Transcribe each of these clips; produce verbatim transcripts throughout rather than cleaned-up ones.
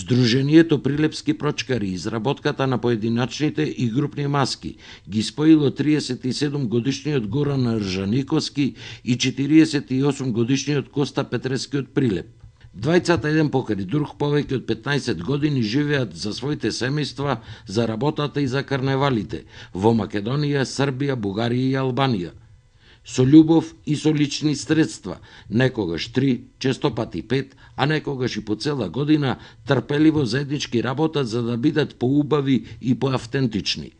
Сдруженијето Прилепски прочкари изработката на поединачните и групни маски ги споило триесет и седум годишниот Горан Ржаниковски и четириесет и осум годишниот Коста Петрески од Прилеп. Двајцата еден покрај друг повеќе од петнаесет години живеат за своите семејства, за работата и за карневалите во Македонија, Србија, Бугарија и Албанија. Со љубов и со лични средства, некогаш три, често пати пет, а некогаш и по цела година, трпеливо заеднички работат за да бидат поубави и поавтентични.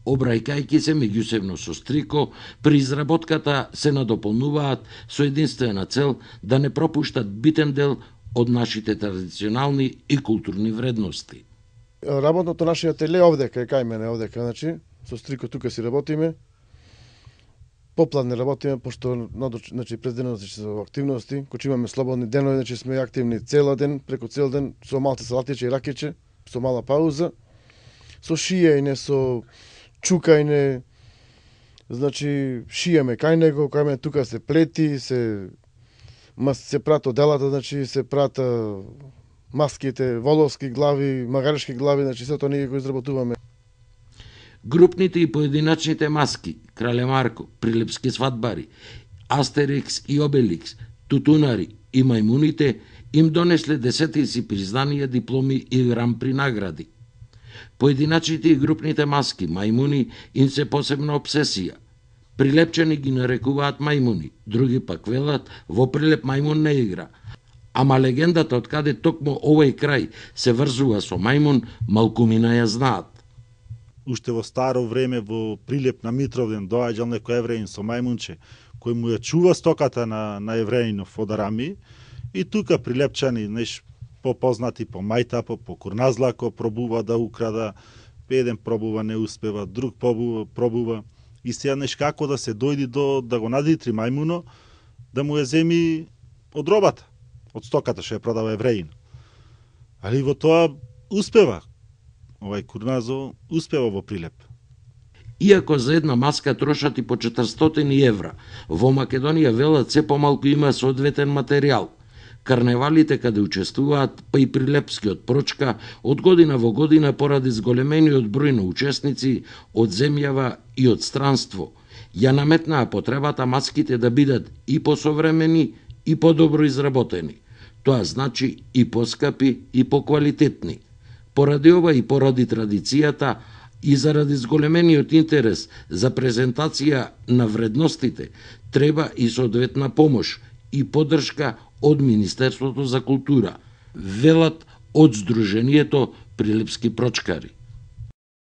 Обрајкајќи се меѓусебно со стрико, при изработката се надополнуваат со единствена цел да не пропуштат битен дел од нашите традиционални и културни вредности. Работното нашиот ателје овдека, кај мене овдека, значи, со стрико тука си работиме. Попладне работиме, пошто значи, през денот значи, со активности, кога имаме слободни денови, значи сме активни цел ден, преку цел ден, со малце салатиче и ракиче, со мала пауза, со шиење, со чукајне, значи шиеме кај него, кај мене тука се плети, се се прато делата, значи се прата маските, воловски глави, магарешки глави, значи сето ние го изработуваме. Групните и поединачните маски, Крале Марко, Прилепски свадбари, Астерикс и Обеликс, Тутунари и мајмуните им донесле десетици признанија, дипломи и гран-при награди. Поединачните и групните маски, мајмуни, им се посебна обсесија. Прилепчани ги нарекуваат мајмуни, други пак велат во Прилеп мајмун не игра. Ама легендата од каде токму овој крај се врзува со мајмун, малкумина ја знаат. Уште во старо време во Прилеп на Митровден доаѓал некој евреин со мајмунче, кој му ја чува стоката на, на евреинов од Арами, и тука прилепчани, неш, попознати по мајтапо, по курназлако, пробува да украда, еден пробува, не успева, друг пробува, пробува, и сега неш како да се дојди до да го надитри мајмуно, да му ја земи од робата, од стоката што ја продава евреин. Али во тоа успева. Овај курназо успева во Прилеп. Иако за една маска трошат и по четиристотини евра, во Македонија велат се помалку има соодветен материјал. Карневалите каде учествуваат, па и Прилепскиот прочка, од година во година поради зголемениот број на учесници од земјава и од странство, ја наметнаа потребата маските да бидат и посовремени и подобро изработени. Тоа значи и поскапи и поквалитетни. Поради ова и поради традицијата и заради зголемениот интерес за презентација на вредностите, треба и соодветна помош и поддршка од Министерството за култура, велат од Сдруженијето Прилепски прочкари.